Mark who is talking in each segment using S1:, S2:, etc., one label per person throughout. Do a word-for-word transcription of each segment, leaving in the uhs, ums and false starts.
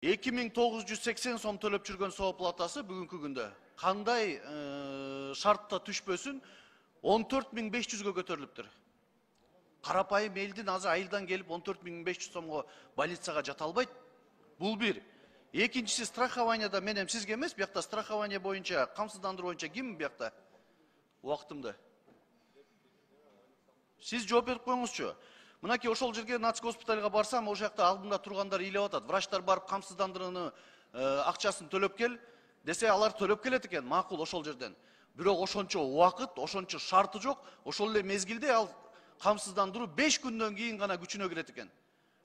S1: эки миң тогуз жүз сексен сом төлөп жүргөн соо платасы бүгүнкү күндө кандай шартта түшпөсүн он төрт миң беш жүзгө көтөрүлүптүр. Карапайым элдин азыр айылдан келип он төрт миң беш жүз сомго больницага жата албайт. Бул бир. Экинчиси страхованияда мен эми сизге эмес, биякта страхование боюнча, камсыздандыруу боюнча ким биякта? Убактымды. Сиз жооп берип коюңузчу. Мынакей ошол жерге Нац госпитальга барсам, ошол жакта алдымда тургандар ыйлап атат. Врачтар барып камсыздандырууну акчасын төлөп кел десе, алар төлөп келет экен, макул ошол жерден. Бирок ошончо убакыт, ошончо шарты жок. Ошол эле мезгилде ал камсыздандыруу беш күндөн кийин гана күчүнө кирет экен.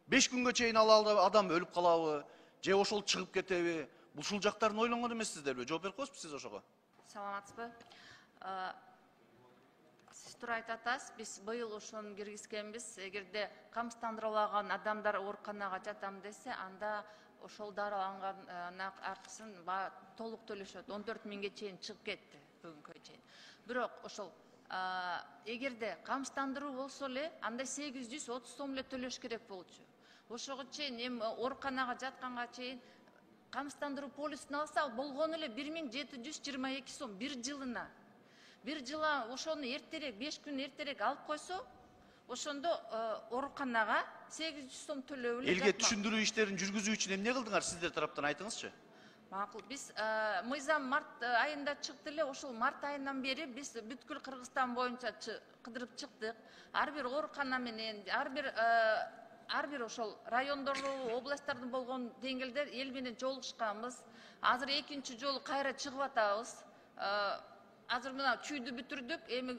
S1: беш күнгө чейин ал адам өлүп калабы, же ошол чыгып кетеби? Ушул жактарын ойлонгон эмессиздерби? Жооп берип коесузбу сиз ошого?
S2: Саламатсызбы? Сиз туура айтып атасыз. Биз быйыл ошону киргизгенбиз. Эгерде камсыздандыруулаган адамдар ооруканага жатам десе, анда ошол дарыланган акчасын толук төлөшөт. он төрт миңге чейин чыгып кетти бүгүнкү чейин. Бирок ошол эгерде камсыздандыруу болсо эле, анда сегиз жүз отуз сом эле төлөш керек болчу. Ошого чейин эми ооруканага жатканга чейин камсыздандыруу полисин алса, болгону эле бир миң жети жүз жыйырма эки сом бир жылына. Бир жылга ошону эртерээк, беш күн эртерээк алып койсо, ошондо ооруканага сегиз жүз сом төлөп эле.
S1: Элге түшүндүрүү иштерин жүргүзүү үчүн эмне кылдыңар сиздер тараптан айтыңызчы?
S2: Макул, биз мыйзам март айында чыкты эле, ошол март айынан бери биз бүткүл Кыргызстан боюнча кыдырып чыктык. Ар бир оорукана менен, ар бир ар бир ошол райондордо, областтарда болгон деңгээлде эл менен жолугушканбыз. Азыр экинчи жолу кайра чыгып атабыз. Азыр мына чүйдү бүтүрдүк, эми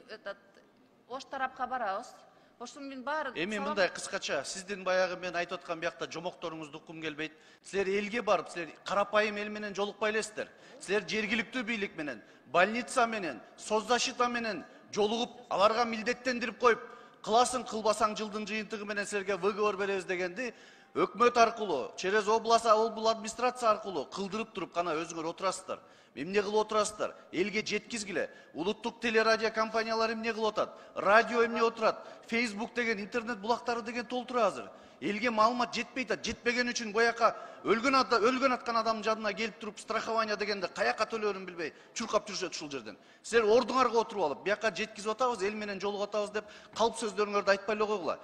S2: ош тарапка барабыз. Ошонун менен баары.
S1: Эми мындай кыскача, сиздин баягы мен айтып аткан биякта жомокторуңузду уккум келбейт. Силер элге барып, силер карапайым эл менен жолукпай элесиздер. Силер жергиликтүү бийлик менен, больница менен, соцзащита менен жолугуп, аларга милдеттендирип коюп, кыласың кылбасаң жылдын жыйынтыгы менен силерге выговор беребиз дегенди өкмөт аркылуу, через область область администрация аркылуу кылдырып туруп кана өзүңөр отурасыздар. Эмне кылып отурасыздар? Элге жеткизгиле. Улуттук телерадио компаниялар эмне кылып атат? Радио эмне отурат? Facebook деген интернет булактары деген толтура азыр. Элге маалымат жетпей атат. Жетпеген үчүн бояка өлгөн ада өлгөн аткан адамдын жадына келип туруп страхование дегенде каяка төлөөрүн билбей чуркап жүрүшөт ушул жерден. Силер ордуңарга отуруп алып, бияка жеткизип атабыз, эл менен жолугуп атабыз деп калп сөздөрүңөрдү айтпай эле койгула.